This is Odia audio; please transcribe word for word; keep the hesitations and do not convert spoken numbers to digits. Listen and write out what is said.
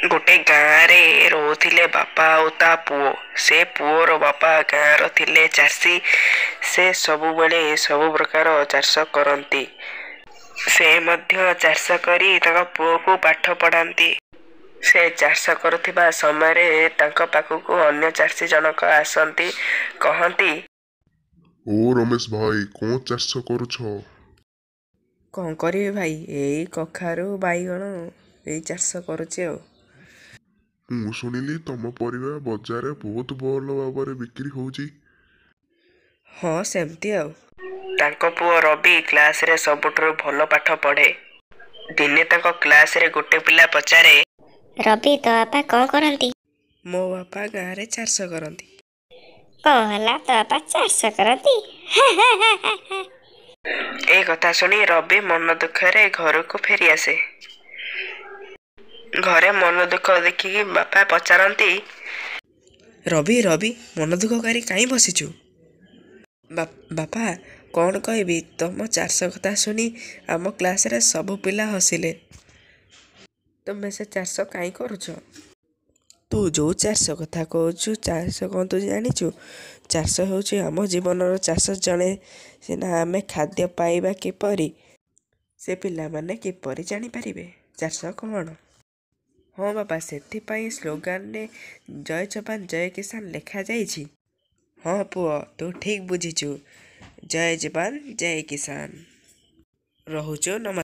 ଗୋଟେ ଗାଁରେ ରହୁଥିଲେ ବାପା ଆଉ ତା ପୁଅ। ସେ ପୁଅର ବାପା ଗାଁର ଥିଲେ ଚାଷୀ। ସେ ସବୁବେଳେ ସବୁ ପ୍ରକାର ଚାଷ କରନ୍ତି। ସେ ମଧ୍ୟ ଚାଷ କରି ତାଙ୍କ ପୁଅକୁ ପାଠ ପଢ଼ାନ୍ତି। ସେ ଚାଷ କରୁଥିବା ସମୟରେ ତାଙ୍କ ପାଖକୁ ଅନ୍ୟ ଚାଷୀ ଜଣକ ଆସନ୍ତି, କହନ୍ତି, ଓ ରମେଶ ଭାଇ, କଣ ଚାଷ କରୁଛ? କଣ କରିବି ଭାଇ, ଏଇ କଖାରୁ, ବାଇଗଣ ଏଇ ଚାଷ କରୁଛି ଆଉ। ମୁଁ ଶୁଣିଲି ତମ ପରିବା ବଜାରରେ ବହୁତ ଭଲ ଭାବରେ ବିକ୍ରି ହଉଛି। ହଁ, ସେମିତି ଆଉ। ତାଙ୍କ ପୁଅ ରବି କ୍ଲାସରେ ସବୁଠାରୁ ଭଲ ପାଠ ପଢ଼େ। ଦିନେ ତାଙ୍କ କ୍ଲାସରେ ଗୋଟେ ପିଲା ପଚାରେ, ରବି, ତୋ ବାପା କଣ କରନ୍ତି? ମୋ ବାପା ଗାଁରେ ଚାଷ କରନ୍ତି। କଣ ହେଲା, ତୋ ବାପା ଚାଷ କରନ୍ତି? ଏ କଥା ଶୁଣି ରବି ମନ ଦୁଃଖରେ ଘରକୁ ଫେରିଆସେ। ଘରେ ମନ ଦୁଃଖ ଦେଖିକି ବାପା ପଚାରନ୍ତି, ରବି, ରବି, ମନ ଦୁଃଖ କରି କାହିଁ ବସିଛୁ? ବାପା, କଣ କହିବି, ତମ ଚାଷ କଥା ଶୁଣି ଆମ କ୍ଲାସରେ ସବୁ ପିଲା ହସିଲେ। ତୁମେ ସେ ଚାଷ କାହିଁ କରୁଛ? ତୁ ଯୋଉ ଚାଷ କଥା କହୁଛୁ, ଚାଷ କଣ ତୁ ଜାଣିଛୁ? ଚାଷ ହେଉଛି ଆମ ଜୀବନର। ଚାଷ ଜଣେ ସିନା ଆମେ ଖାଦ୍ୟ ପାଇବା କିପରି? ସେ ପିଲାମାନେ କିପରି ଜାଣିପାରିବେ ଚାଷ କଣ? ହଁ ବାପା, ସେଥିପାଇଁ ସ୍ଲୋଗାନରେ ଜୟ ଯବାନ ଜୟ କିଷାନ ଲେଖାଯାଇଛି। ହଁ ପୁଅ, ତୁ ଠିକ୍ ବୁଝିଛୁ। ଜୟ ଯବାନ ଜୟ କିଷାନ। ରହୁଛୁ, ନମସ୍କାର।